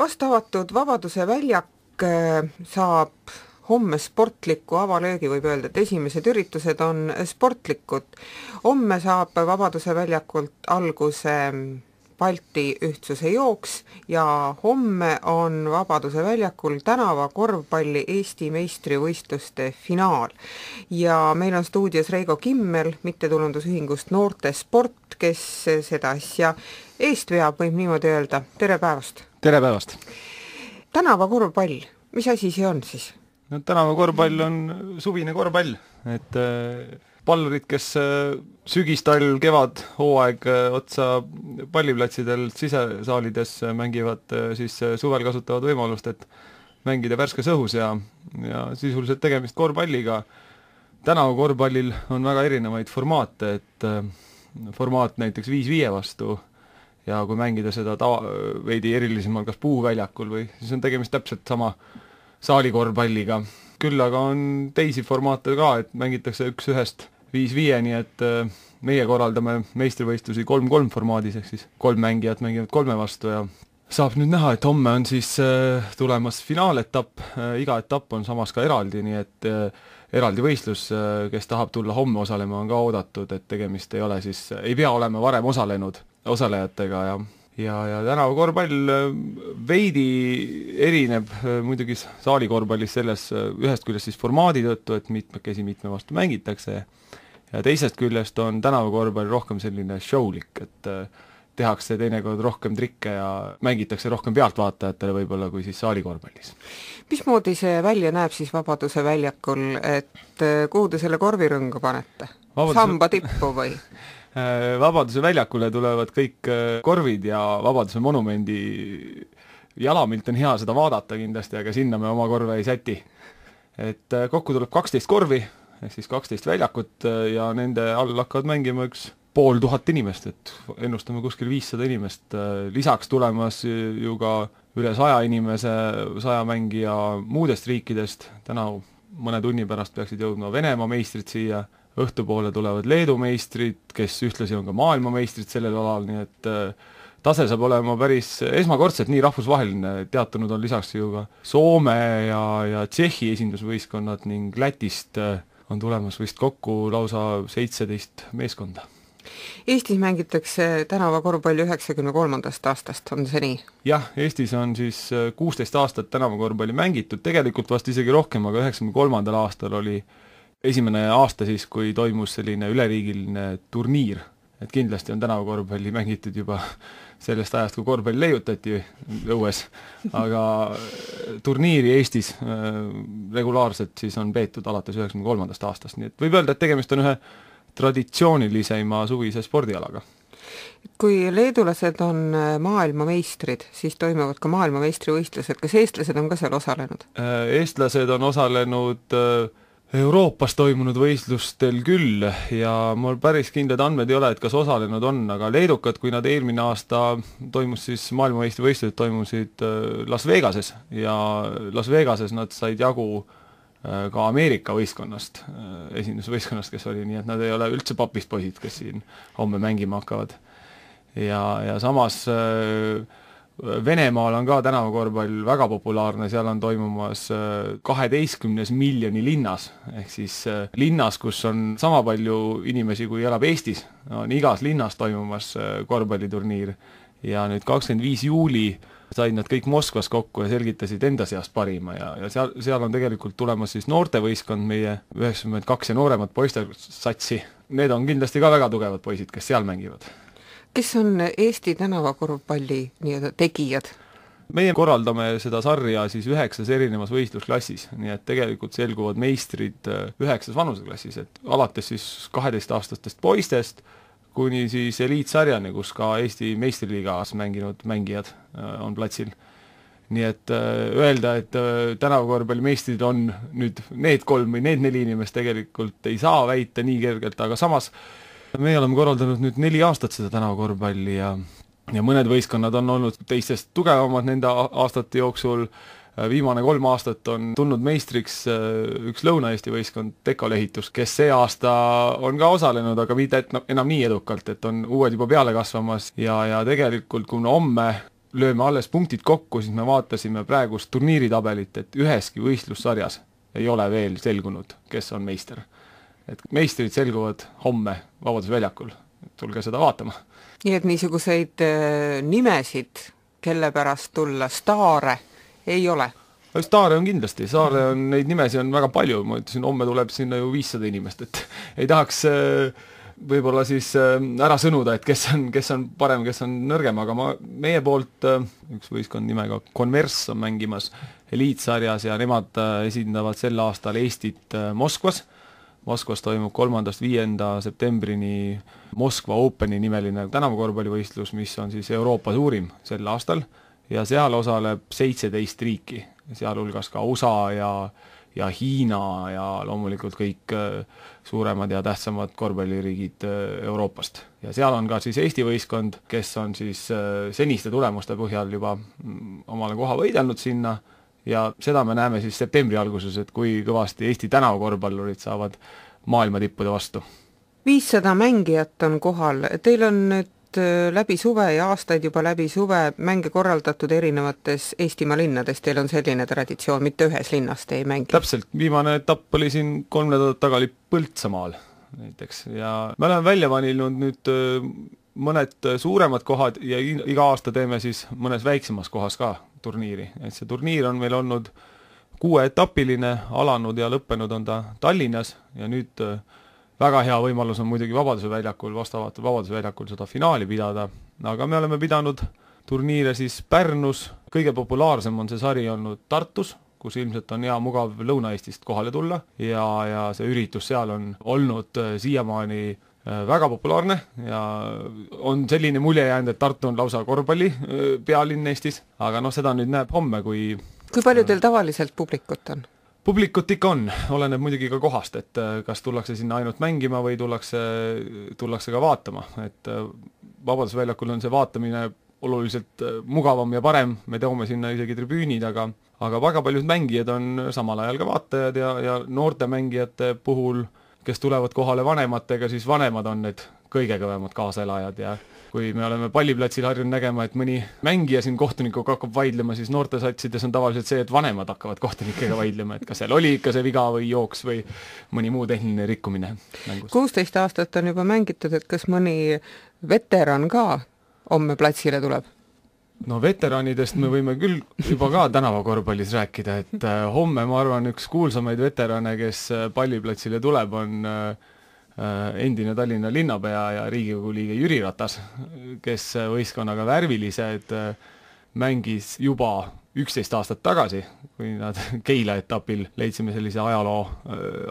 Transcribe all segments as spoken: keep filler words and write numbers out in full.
Vast avatud Vabaduse väljak saab homme sportliku avalöögi, võib öelda, et esimesed üritused on sportlikud. Homme saab Vabaduse väljakult alguse Balti ühtsuse jooks ja homme on Vabaduse väljakul tänava korvpalli Eesti meistrivõistluste finaal. Ja meil on stuudios Reigo Kimmel, mittetulundusühingust Noorte Sport, kes seda asja eest veab, võib niimoodi öelda. Tere päevast! Tere päevast! Tänava korvpall, mis asi see on siis? No, tänava korvpall on suvine korvpall, et äh, pallurid, kes äh, sügis, talv, kevad, hooaeg äh, otsa palliplatsidel sisesaalides äh, mängivad, äh, siis äh, suvel kasutavad võimalust, et mängida värskes õhus ja, ja sisuliselt tegemist korvpalliga. Tänava korvpallil on väga erinevaid formaate, et äh, formaat näiteks viis viie vastu ja kui mängida seda tava, veidi erilisemal kas puuväljakul või siis on tegemist täpselt sama saalikorvpalliga. Küll aga on teisi formaate ka, et mängitakse üks ühest viis viieni, et meie korraldame meistrivõistlusi kolm kolm formaadis, ehk siis kolm mängijat mängivad kolme vastu ja saab nüüd näha, et homme on siis tulemas finaaletapp, iga etapp on samas ka eraldi, nii et eraldi võistlus, kes tahab tulla homme osalema, on ka oodatud, et tegemist ei ole siis, ei pea olema varem osalenud osalejatega ja ja, ja tänava korvpall veidi erineb muidugi saali korvpallis selles ühest küljest siis formaadi tõttu, et mitmekesi mitme vastu mängitakse ja teisest küljest on tänava korvpall rohkem selline showlik, et tehakse teinekord rohkem trikke ja mängitakse rohkem pealtvaatajatele võib-olla kui siis saali korvpallis. Mismoodi see välja näeb siis Vabaduse väljakul, et kuhu te selle korvirõnga panete? Vabaduse... Samba tippu või? Vabaduse väljakule tulevad kõik korvid ja Vabaduse monumendi jalamilt on hea seda vaadata kindlasti, aga sinna me oma korve ei säti. Et kokku tuleb kaksteist korvi, ehk siis kaksteist väljakut ja nende all hakkavad mängima üks pool tuhat inimest, et ennustame kuskil viissada inimest. Lisaks tulemas ju ka üle saja inimese, saja mängija muudest riikidest. Täna mõne tunni pärast peaksid jõudma Venemaa meistrid siia. Õhtupoole tulevad Leedu meistrid, kes ühtlasi on ka maailmameistrid sellel alal, nii et tase saab olema päris esmakordselt nii rahvusvaheline. Teatunud on lisaks ju ka Soome ja, ja Tšehhi esindusvõistkonnad ning Lätist on tulemas vist kokku lausa seitseteist meeskonda. Eestis mängitakse tänava korvpalli üheksakümne kolmandast aastast, on see nii? Jah, Eestis on siis kuusteist aastat tänava korvpalli mängitud, tegelikult vast isegi rohkem, aga üheksakümne kolmandal aastal oli esimene aasta siis, kui toimus selline üleriigiline turniir, et kindlasti on tänava korvpalli mängitud juba sellest ajast, kui korvpalli leiutati õues, aga turniiri Eestis regulaarselt siis on peetud alates üheksakümne kolmandast aastast, nii et võib öelda, et tegemist on ühe traditsioonilisema suvise spordialaga. Kui leedulased on maailmameistrid, siis toimuvad ka maailmameistrivõistlused, kas eestlased on ka seal osalenud? Eestlased on osalenud Euroopas toimunud võistlustel küll ja mul päris kindlad andmed ei ole, et kas osalenud on, aga leedukad, kui nad eelmine aasta toimus siis maailmameistrivõistlused toimusid Las Vegases ja Las Vegases nad said jagu ka Ameerika võistkonnast, esindusvõistkonnast, kes oli, nii et nad ei ole üldse papist poisid, kes siin homme mängima hakkavad. Ja, ja samas Venemaal on ka tänavakorvpall väga populaarne, seal on toimumas kaheteistkümnes miljoni linnas, ehk siis linnas, kus on sama palju inimesi, kui elab Eestis, on igas linnas toimumas korvpalliturniir ja nüüd kakskümmend viis juuli said nad kõik Moskvas kokku ja selgitasid enda seast parima ja, ja seal, seal on tegelikult tulemas siis noortevõistkond, meie üheksakümmend kaks ja nooremat poistel satsi. Need on kindlasti ka väga tugevad poisid, kes seal mängivad. Kes on Eesti tänavakorvpalli nii-öelda tegijad? Meie korraldame seda sarja siis üheksas erinevas võistlusklassis, nii et tegelikult selguvad meistrid üheksas vanuseklassis, et alates siis kaheteistaastastest poistest kuni siis eliitsarjani, kus ka Eesti meistriliigas mänginud mängijad on platsil. Nii et öelda, et tänavakorvpalli meistrid on nüüd need kolm või need neli inimest tegelikult ei saa väita nii kergelt, aga samas me oleme korraldanud nüüd neli aastat seda tänavakorvpalli ja, ja mõned võistkonnad on olnud teistest tugevamad nende aastate jooksul. Viimane kolm aastat on tulnud meistriks üks Lõuna-Eesti võistkond Teko Lehitus, kes see aasta on ka osalenud, aga mitte enam nii edukalt, et on uued juba peale kasvamas ja, ja tegelikult kuna homme lööme alles punktid kokku, siis me vaatasime praegust turniiritabelit, et üheski võistlussarjas ei ole veel selgunud, kes on meister. Et meistrid selguvad homme Vabaduse väljakul, tulge seda vaatama. Nii et niisuguseid nimesid, kelle pärast tulla, staare ei ole? Staare on kindlasti, Saare on, neid nimesi on väga palju, ma ütlesin, homme tuleb sinna ju viissada inimest, et ei tahaks võib-olla siis ära sõnuda, et kes on, kes on parem, kes on nõrgem, aga ma, meie poolt üks võistkond nimega Converse on mängimas eliitsarjas ja nemad esindavad sel aastal Eestit Moskvas. Moskvas toimub kolmandast viienda septembrini Moskva Openi nimeline tänavakorvpallivõistlus, mis on siis Euroopa suurim sel aastal ja seal osaleb seitseteist riiki, sealhulgas ka U S A ja, ja Hiina ja loomulikult kõik suuremad ja tähtsamad korvpalliriigid Euroopast. Ja seal on ka siis Eesti võistkond, kes on siis seniste tulemuste põhjal juba omale koha võidelnud sinna ja seda me näeme siis septembri alguses, et kui kõvasti Eesti tänavakorvpallurid saavad maailma tippude vastu. viissada mängijat on kohal, teil on nüüd läbi suve ja aastaid juba läbi suve mänge korraldatud erinevates Eestimaa linnades, teil on selline traditsioon, mitte ühes linnas te ei mängi? Täpselt, viimane etapp oli siin kolm nädalat taga oli Põltsamaal näiteks ja me oleme välja valinud nüüd mõned suuremad kohad ja iga aasta teeme siis mõnes väiksemas kohas ka turniiri, et see turniir on meil olnud kuueetapiline, alanud ja lõppenud on ta Tallinnas ja nüüd väga hea võimalus on muidugi Vabaduse väljakul, vastavatel Vabaduse väljakul seda finaali pidada, aga me oleme pidanud turniire siis Pärnus, kõige populaarsem on see sari olnud Tartus, kus ilmselt on hea mugav Lõuna-Eestist kohale tulla ja, ja see üritus seal on olnud siiamaani väga populaarne ja on selline mulje jäänud, et Tartu on lausa korvpalli pealinn Eestis, aga noh, seda nüüd näeb homme, kui... Kui palju teil tavaliselt publikut on? Publikut ikka on, oleneb muidugi ka kohast, et kas tullakse sinna ainult mängima või tullakse, tullakse ka vaatama, et Vabaduse väljakul on see vaatamine oluliselt mugavam ja parem, me toome sinna isegi tribüünid, aga, aga väga paljud mängijad on samal ajal ka vaatajad ja, ja noorte mängijate puhul, kes tulevad kohale vanematega, siis vanemad on need kõige kõvemad kaasaelajad ja kui me oleme palliplatsil harjunud nägema, et mõni mängija siin kohtunikuga hakkab vaidlema, siis noortesatsides on tavaliselt see, et vanemad hakkavad kohtunikega vaidlema, et kas seal oli ikka see viga või jooks või mõni muu tehniline rikkumine mängus. kuusteist aastat on juba mängitud, et kas mõni veteran ka homme platsile tuleb? No veteranidest me võime küll juba ka tänavakorvpallis rääkida, et homme ma arvan üks kuulsamaid veterane, kes palliplatsile tuleb, on endine Tallinna linnapea ja Riigikogu liige Jüri Ratas, kes võistkonnaga värvilised mängis juba üksteist aastat tagasi, kui nad Keila etapil leidsime sellise ajaloo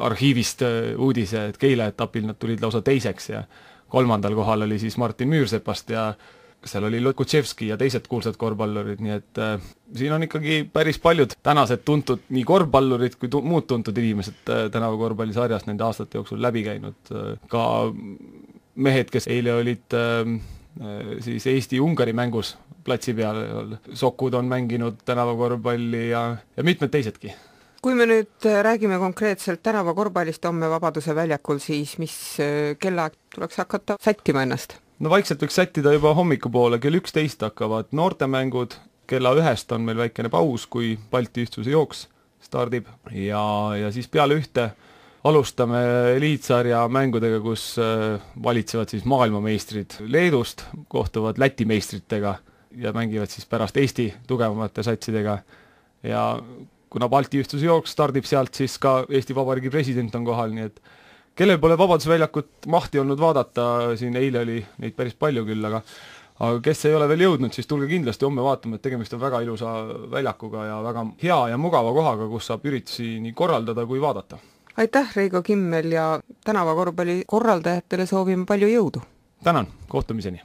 arhiivist uudise, et Keila etapil nad tulid lausa teiseks ja kolmandal kohal oli siis Martin Müürsepast ja seal oli Lukutševski ja teised kuulsad korvpallurid, nii et äh, siin on ikkagi päris paljud tänased tuntud nii korvpallurid kui tu muud tuntud inimesed äh, tänavakorvpallisarjast nende aastate jooksul läbi käinud äh,. Ka mehed, kes eile olid äh, siis Eesti-Ungari mängus platsi peal, Sokud on mänginud tänavakorvpalli ja, ja mitmed teisedki. Kui me nüüd räägime konkreetselt tänavakorvpallist homme Vabaduse väljakul, siis mis kellaaeg tuleks hakata sättima ennast? No vaikselt võiks sättida juba hommikupoole, kell üksteist hakkavad noortemängud, kella ühest on meil väikene paus, kui Balti ühtsuse jooks stardib ja, ja siis peale ühte alustame eliitsarja mängudega, kus valitsevad siis maailmameistrid Leedust, kohtuvad Läti meistritega ja mängivad siis pärast Eesti tugevamate satsidega ja kuna Balti ühtsuse jooks stardib sealt, siis ka Eesti Vabariigi president on kohal, nii et kellel pole Vabaduse väljakut mahti olnud vaadata, siin eile oli neid päris palju küll, aga aga kes ei ole veel jõudnud, siis tulge kindlasti homme vaatama, et tegemist on väga ilusa väljakuga ja väga hea ja mugava kohaga, kus saab üritusi nii korraldada kui vaadata. Aitäh, Reigo Kimmel ja tänavakorvpalli korraldajatele soovime palju jõudu! Tänan, kohtumiseni!